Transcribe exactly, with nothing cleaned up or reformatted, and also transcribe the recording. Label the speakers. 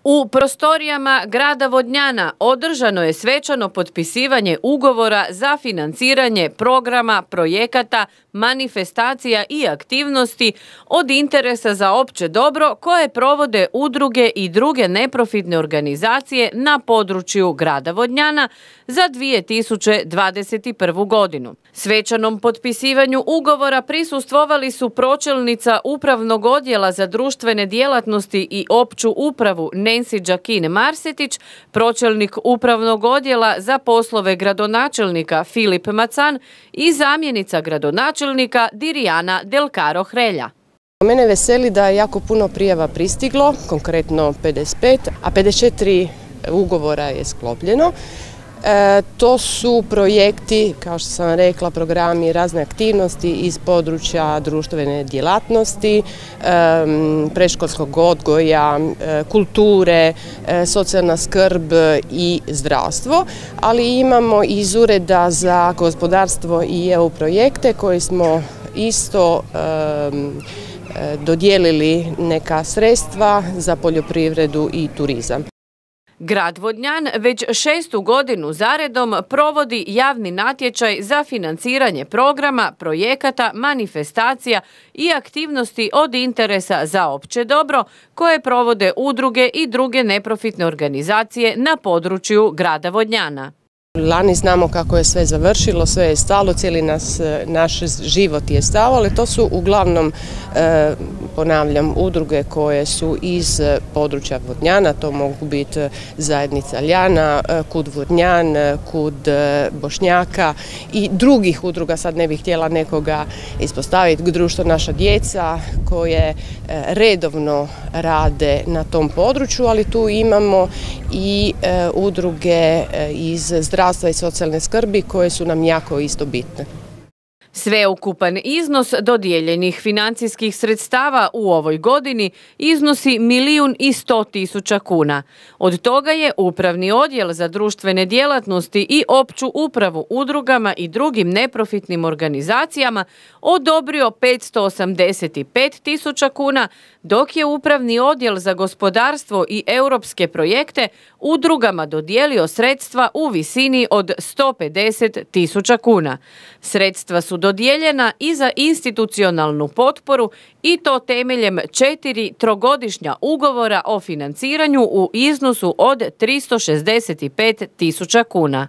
Speaker 1: U prostorijama grada Vodnjana održano je svečano potpisivanje ugovora za financiranje programa, projekata, manifestacija i aktivnosti od interesa za opće dobro koje provode udruge i druge neprofitne organizacije na području grada Vodnjana za dvije tisuće dvadeset prvu. godinu. Svečanom potpisivanju ugovora prisustvovali su pročelnica Upravnog odjela za društvene djelatnosti i opću upravu Nancy Đakin Marsetić, pročelnik Upravnog odjela za poslove gradonačelnika Filip Macan i zamjenica gradonačelnika Dirijana Del Caro Hrelja.
Speaker 2: Mene veseli da je jako puno prijava pristiglo, konkretno pedeset pet, a pedeset četiri ugovora je sklopljeno. E, to su projekti, kao što sam rekla, programi, razne aktivnosti iz područja društvene djelatnosti, e, predškolskog odgoja, e, kulture, e, socijalna skrb i zdravstvo, ali imamo iz Ureda za gospodarstvo i E U projekte koje smo isto e, dodijelili neka sredstva za poljoprivredu i turizam.
Speaker 1: Grad Vodnjan već šestu godinu zaredom provodi javni natječaj za financiranje programa, projekata, manifestacija i aktivnosti od interesa za opće dobro koje provode udruge i druge neprofitne organizacije na području grada Vodnjana.
Speaker 2: Lani znamo kako je sve završilo, sve je stalo, cijeli nas, naš život je stao, ali to su uglavnom, e, ponavljam, udruge koje su iz područja Vodnjana, to mogu biti zajednica Ljana, Kud Vodnjan, Kud Bošnjaka i drugih udruga, sad ne bih htjela nekoga ispostaviti, društvo Naša djeca koje redovno rade na tom području, ali tu imamo i e, udruge iz zdravstva zdravstva i socijalne skrbi koje su nam jako isto bitne.
Speaker 1: Sveukupan iznos dodijeljenih financijskih sredstava u ovoj godini iznosi milijun i sto tisuća kuna. Od toga je Upravni odjel za društvene djelatnosti i opću upravu udrugama i drugim neprofitnim organizacijama odobrio petsto osamdeset pet tisuća kuna, dok je Upravni odjel za gospodarstvo i europske projekte udrugama dodijelio sredstva u visini od sto pedeset tisuća kuna. Sredstva su dodijeljena i za institucionalnu potporu i to temeljem četiri trogodišnja ugovora o financiranju u iznosu od tristo šezdeset pet tisuća kuna.